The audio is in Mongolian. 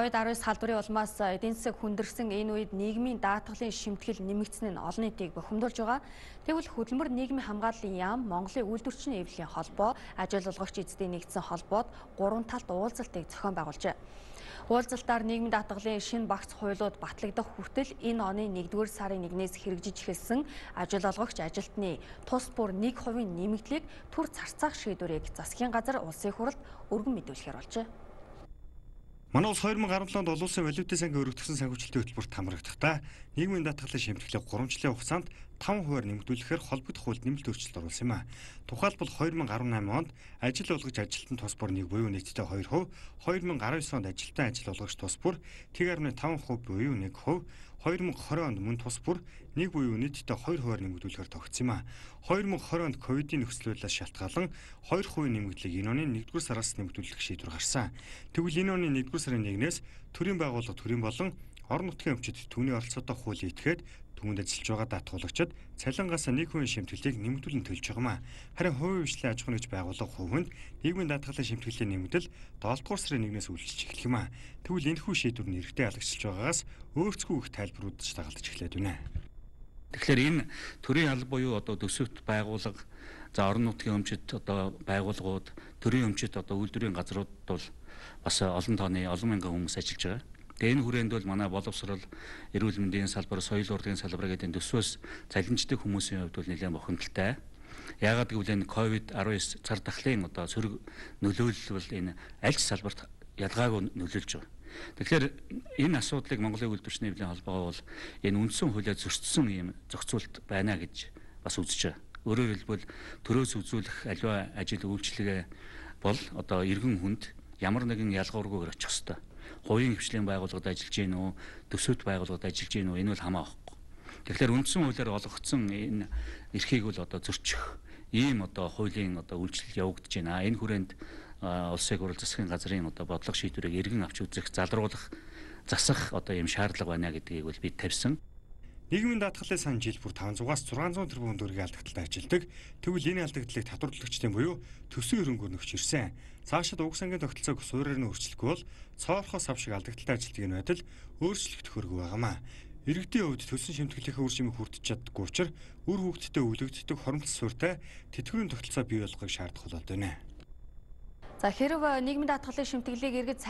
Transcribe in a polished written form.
COVID-19 салбарын улмаас эдийн засаг хүндэрсэн энэ үед нийгмийн даатгалын шимтгэл нэмэгдсэн нь олон нийтийг бухимдуулж байгаа. Тэгвэл хөдөлмөр нийгмийн хамгааллын яам, Монголын үйлдвэрчний эвлэлийн холбоо, ажил олгогч эзэдийн нэгдсэн холбоод 3 талт уулзалтыг зохион байгуулжээ. Уулзалтаар нийгмийн даатгалын шинэ багц хуулиуд батлагдах хүртэл энэ оны 1-р сарын 1-ээс хэрэгжиж эхэлсэн ажил олгогч ажилтны тус бүр 1% нэмэгдлийг түр зарцаах шийдвэрийг засгийн газар улсын хурлд өргөн мэдүүлэхээр болжээ. Манай улс 2017 онд олон улсын валютын сангийн өргөдгсөн санхүүжилтийн хөтөлбөрт хамрагдахдаа нийгмийн даатгалын шимтгэлийг 3 жилийн хугацаанд 5% нэмэгдүүлэхээр холбогдох хууль нэмэлт өөрчлөлт оруулсан юм а. Тухайлбал 2018 онд ажил олгогч ажилтан тус бүр 1 буюу нийтдээ 2%, 2019 онд ажилтан ажил олгогч тус бүр 1.5% буюу 1%, 2020 онд мөн тус бүр 1 буюу нийтдээ 2% нэмэгдүүлэхээр тогтсон юм а. 2020 онд ковидын нөхцөл байдлаас шалтгаалan 2% нэмэгдлийг энэ оны 1-р сараас нэмэгдүүлэх шийдвэр гарсан. Тэгвэл энэ оны 1-р сарын 1-ээс төрийн байгууллага төрийн болон орон нутгийн өмчөд түүний оролцоотой хууль ийтгээд түүнд ажиллаж байгаа даатгуулагчид цалингаас 1% шимтгэлийг нэмэгдүүлэн төлж байгаа юм а. Харин хувийн хвшлийн аж ахуйн нэгж байгууллага хувьд нийгмийн даатгалын шимтгэлийн нэмэгдэл 7-р сарын 1-ээс үйлчилж эхлэх юм а. Тэгвэл энэхүү шийдвэр нь эрэгтэй халагчилж байгаагаас өөрсдөө их тайлбаруудаж дагалдаж эхлээд байна. Тэгэхээр энэ төрийн алба буюу одоо төсөвт байгууллага, за орон нутгийн өмчөд одоо байгууллагууд, төрийн өмчөд одоо үйлдвэрийн газрууд бол бас олон тооны олон мянган хүмүүс ажиллаж байгаа. Тэгээ энэ хүрээнд бол манай боловсрол, эрүүл мэндийн салбар, соёл урлагийн салбар гэдэг төсвөөс цалинждаг хүмүүсийн хувьд бол нэлээд бохимдолтой. Яагаад гэвэл энэ COVID-19 цар тахлын одоо сөрөг нөлөөлөл бол энэ аль ч салбарт ялгаагүй нөлөөлж байгаа. Тэгэхээр энэ асуудлыг Монголын үйлдвэрчний эвлэлийн холбоо бол энэ үндсэн хуулиар зөрчсөн юм зохицуулт байна гэж бас үзэж байгаа. Өөрөөр хэлбэл төрөөс үзүүлэх аливаа ажил үйлчилгээ бол одоо иргэн хүнд ямар нэгэн ялгуургүйгээр очих ёстой. Хувийн хвшлийн байгууллагад ажиллаж гин үү, төсөвт байгууллагад ажиллаж гин үү, энэ бол хамаа байхгүй. Тэгэхээр үндсэн хуулиар олгогдсон энэ эрхийг бол одоо зөрчих ийм одоо хуулийн одоо үйлчлэл явагдаж байна. Энэ хүрээнд улсын хурал засгийн газрын одоо бодлого шийдвэрийг эргэн авч үзэх, залруулах, засах одоо ийм шаардлага байна гэдгийг бол бид тавьсан. Нийгмийн даатгалын сан жил бүр 500-аас 600 тэрбум төгрөгийн алдагдлаар ажилдаг. Тэгвэл энэ алдагдлыг татварлагчдын буюу төсвийн хөрөнгөөр нөхч ирсэн. Цаашид уг сангийн тогтолцоог суурьаар нь өөрчлөхгүй бол цоорхоос авшиг алдагдлаар ажилтдаг энэ байдал өөрчлөгдөх хэрэггүй байгаамаа. Иргэдийн хувьд төлсөн шимтгэлийнхээ үр жимийг хүртэж чаддаггүй учраас үр хөвгтөд өвлөгддөг хоромтлол суурьтай тэтгэврийн тогтолцоо бий болгохыг шаардах болоод байна. За хэрв нийгмийн даатгалын шимтгэлийг иргэд